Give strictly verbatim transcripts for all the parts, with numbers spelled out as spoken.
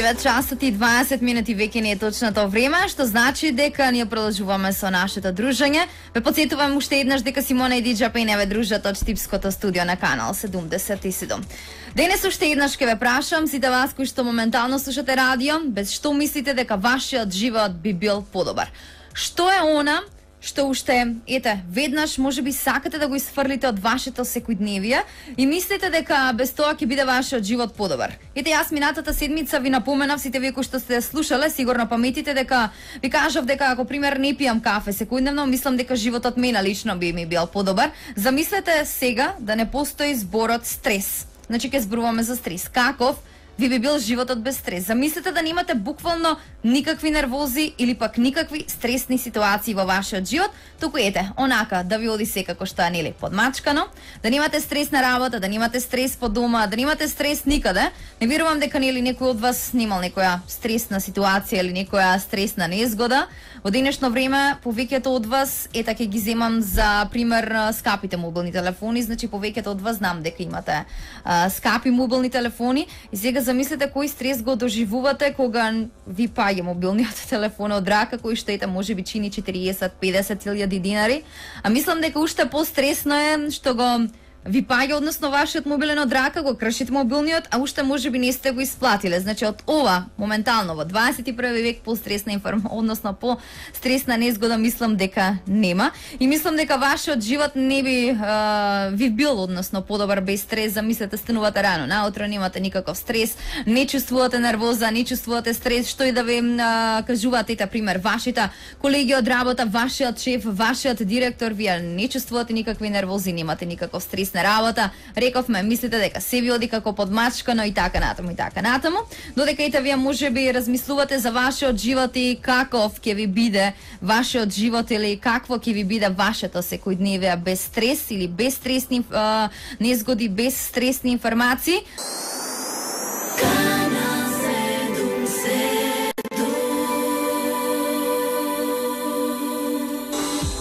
девет часот и дваесет минути веќе не е точното време, што значи дека ние продолжуваме со нашето дружење. Ве потсетувам уште еднаш дека Симона и Диџа Пене ве дружат од Штипското студио на канал седумдесет и седум. Денес уште еднаш ќе ве прашам сите вас кои што моментално слушате радио, без што мислите дека вашиот живот би бил подобар? Што е она што уште, ете, веднаш можеби сакате да го исфрлите од вашето секојдневие и мислите дека без тоа ќе биде вашиот живот подобар. Ете, јас минатата седмица ви напоменав, сите вие кои што сте слушале, сигурно паметите дека ви кажав дека ако пример не пијам кафе секојдневно, мислам дека животот мене лично би ми бил подобар. Замислете сега да не постои зборот стрес. Значи ќе зборуваме за стрес. Каков ви би бил животот без стрес? Замислете да немате буквално никакви нервози или пак никакви стресни ситуации во вашиот живот, туку ете, онака да ви оди секако што е нели подмачкано, да немате стрес на работа, да немате стрес по дома, да немате стрес никаде. Не верувам дека нели некој од вас немал некоја стресна ситуација или некоја стресна незгода. Во денешно време повеќето од вас, ета ќе ги земам за пример скапите мобилни телефони, значи повеќето од вас знам дека имате а, скапи мобилни телефони и сега замислете кој стрес го доживувате кога ви паѓа мобилниот телефон од рака, кој што ете може би чини четириесет до педесет илјади динари, а мислам дека уште постресно е што го ви паѓа, односно вашиот мобилен од рака, го кршите мобилниот, а уште можеби не сте го исплатиле. Значи од ова моментално во дваесет и први век постресна информација, односно по стресна незгода мислам дека нема и мислам дека вашиот живот не би а, ви бил односно подобар без стрес. Замислете, станувате рано наутро, немате никаков стрес, не чувствувате нервоза, не чувствувате стрес, што и да ви а, кажуваат, ете пример, вашите колеги од работа, вашиот шеф, вашиот директор, вие не чувствувате никакви нервози, немате никаков стрес на работа, рековме, мислите дека се ви оди како подмачкано и така натаму и така натаму, додека ете вие можеби размислувате за вашиот живот и каков ќе ви биде вашиот живот или какво ќе ви биде вашето секојдневие без стрес или без стресни а, незгоди, без стресни информации.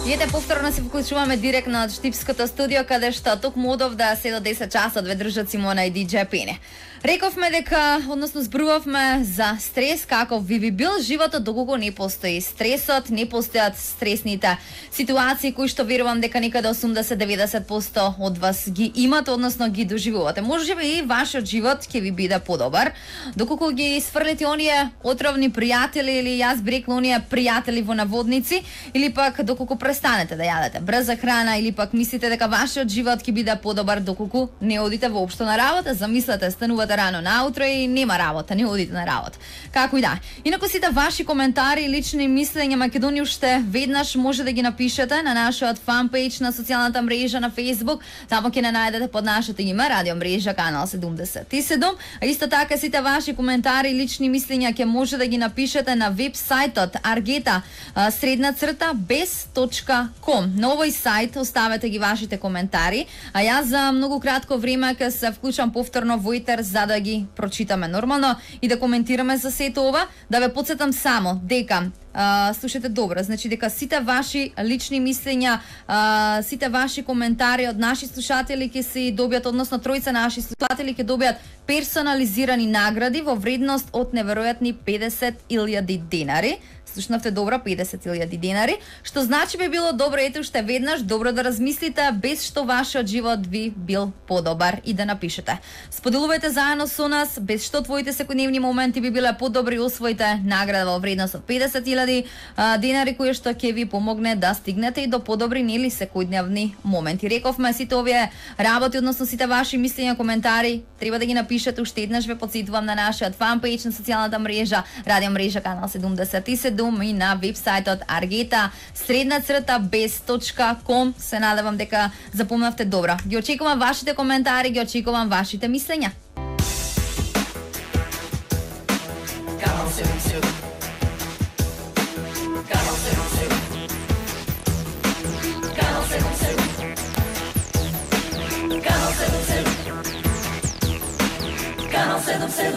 И ете, повторно се вклучуваме директно од Штипското студио, каде што токму одов да се до десет часот ве држат Симона и Диџа Пене. Рековме дека, односно зборувавме за стрес, како ви би бил животот доколку не постои стресот, не постојат стресните ситуации кои што верувам дека некаде осумдесет до деведесет проценти од вас ги имат, односно ги доживувате. Можеби и вашиот живот ќе ви биде подобар доколку ги сфрлите оние отровни пријатели или јас би рекла оние пријатели во наводници, или пак доколку престанете да јадете брза храна, или пак мислите дека вашиот живот ќе биде подобар доколку не одите воопшто на работа. Замислете, станувате рано наутро и нема работа, не одите на работа. Како и да. Инаку сите ваши коментари и лични мислења Македонија уште веднаш може да ги напишете на нашиот фанпејдж на социјалната мрежа на Facebook. Таму ќе не најдете под нашето име Радио мрежа канал седумдесет и седум. А исто така сите ваши коментари и лични мислења ќе може да ги напишете на веб-сајтот Аргета средна црта без точка ком. На овој сајт оставете ги вашите коментари, а јас за многу кратко време ќе се вклучам повторно во етер за да ги прочитаме нормално и да коментираме за сето ова. Да ве потсетам само дека Uh, слушате добро, значи дека сите ваши лични мислења, uh, сите ваши коментари од наши слушатели ќе се добијат, односно тројца наши слушатели ќе добијат персонализирани награди во вредност од неверојатни педесет илјади денари. Слушнавте добро, педесет илјади денари, што значи би било добро, ете уште веднаш, добро да размислите без што вашиот живот би бил подобар и да напишете. Споделувајте заедно со нас, без што твоите секојдневни моменти би биле подобри, освоите награда во вредност од педесет илјади денари, кои што ќе ви помогне да стигнете и до подобри нели секојдневни моменти. Рековме, сите овие работи, односно сите ваши мислења, коментари, треба да ги напишете уште еднаш. Ве потсетувам на нашиот фанпејдж на социјалната мрежа Радио мрежа канал седумдесет и седум и на веб-сајтот Аргета средна црта без точка ком. Се надевам дека запомнавте добро. Ги очекувам вашите коментари, ги очекувам вашите мислења. Канал седумдесет Канал седумдесет Канал седумдесет Канал седумдесет Канал седумдесет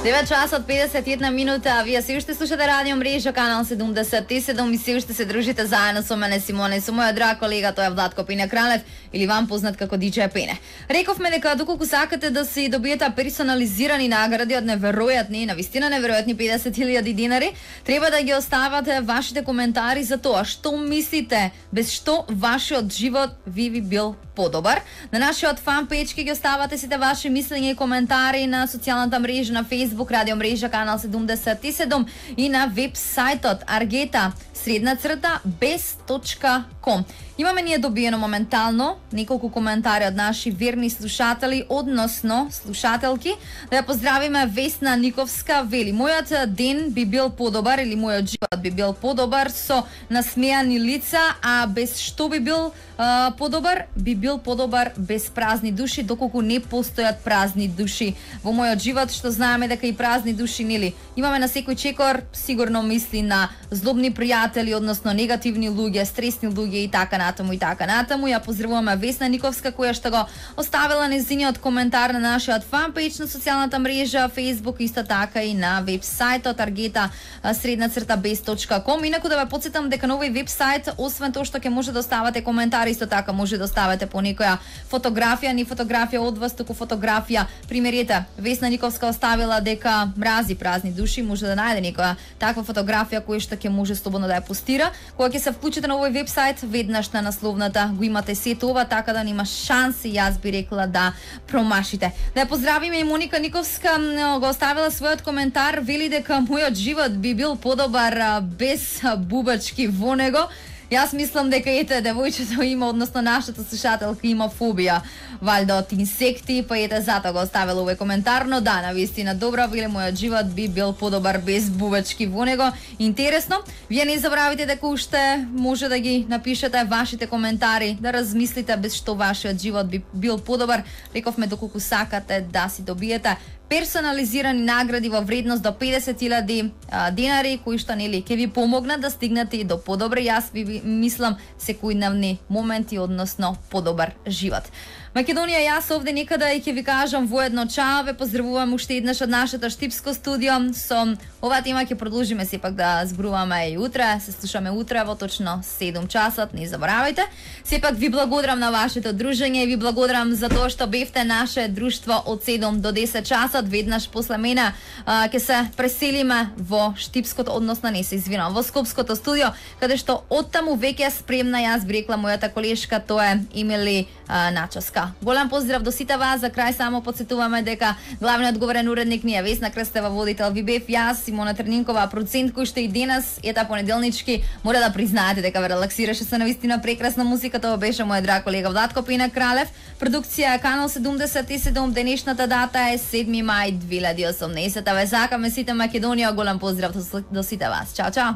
девет часот педесет и една минута, вие се уште слушате радио мрежа канал седумдесет и седум и се уште се дружите заедно со мене Симона и со мојот драг колега, тој е Владко Пене Кралев или вам познат како диџеј Пене. Рековме дека доколку сакате да си добиете персонализирани награди од неверојатни, навистина неверојатни педесет илјади динари, треба да ги оставате вашите коментари за тоа што мислите, без што вашиот живот ви би бил подобар. На нашиот фан пејдж ги оставате сите ваши мислења и коментари на социјалната мрежа на Facebook радио мрежа канал седумдесет и седум и на веб сајтот аргета средна црта без точка ком. Имаме ние добиено моментално неколку коментари од наши верни слушатели, односно слушателки. Да ја поздравиме Весна Никовска, вели: мојот ден би бил подобар или мојот живот би бил подобар со насмеани лица, а без што би бил а, подобар? Би бил подобар без празни души, доколку не постојат празни души во мојот живот, што знаеме дека и празни души, нели? Имаме на секој чекор сигурно мисли на злобни пријатели, односно негативни луѓе, стресни луѓе и така натаму и така натаму. Ја поздравуваме Весна Никовска која што го оставила незиниот коментар на нашиот фан пејдж на социјалната мрежа Facebook, исто така и на веб сајтот аргета средна црта без точка ком. Инаку да ве потсетам дека на овој веб сајт, освен тоа што ќе може да оставате коментари, исто така може да оставате по некоја фотографија, ни фотографија од вас, туку фотографија. Примерите, Весна Никовска оставила дека мрази празни души, може да најде некоја таква фотографија која што ќе може слободно да ја постира. Кога ќе се вклучите на овој веб сајт, веднаш на насловната го имате сето ова, така да нема шанси, јас би рекла, да промашите. Да ја поздравиме и Моника Никовска, го оставила својот коментар, вели дека мојот живот би бил подобар без бубачки во него. Јас мислам дека ете девојчето има, односно нашата слушателка има фобија валјда од инсекти, па ете затоа го оставила овој коментар, но да, навистина добра, вели мојот живот би бил подобар без бубачки во него. Интересно, вие не забравите дека уште може да ги напишете вашите коментари, да размислите без што вашиот живот би бил подобар. Рековме доколку сакате да си добиете персонализирани награди во вредност до педесет илјади динари, кои што нели ќе ви помогнат да стигнете и до подобри, јас ви мислам, секојдневни моменти, односно подобар живот. Македонија, јас овде некада и ќе ви кажам воедно чао, ве поздравувам уште еднаш од нашето штипско студио. Со оваа тема ќе продолжиме сепак да зборуваме и утре, се слушаме утре во точно седум часот, не заборавајте. Сепак ви благодарам на вашето дружење и ви благодарам за тоа што бевте наше друштво од седум до десет часот. Веднаш после мене ќе се преселиме во штипското, односно не се извинувам, во скопското студио, каде што оттаму веќе спремна, јас би рекла, мојата колешка, тоа е Емили Начаска. Голем поздрав до сите вас. За крај само подсетуваме дека главниот говорен уредник ни е Весна Крстева, водител ви бев јас, Симона Трнинкова, процент кој што и денес ета понеделнички мора да признаете дека ве релаксираше со навистина прекрасна музика. Тоа беше мојот драг колега Владко Пене Кралев. Продукција канал седумдесет и седум. Денешната дата е седми мај две илјади и осумнаесета. Ве сакаме сите Македонија. Голем поздрав до сите вас. Чао, чао.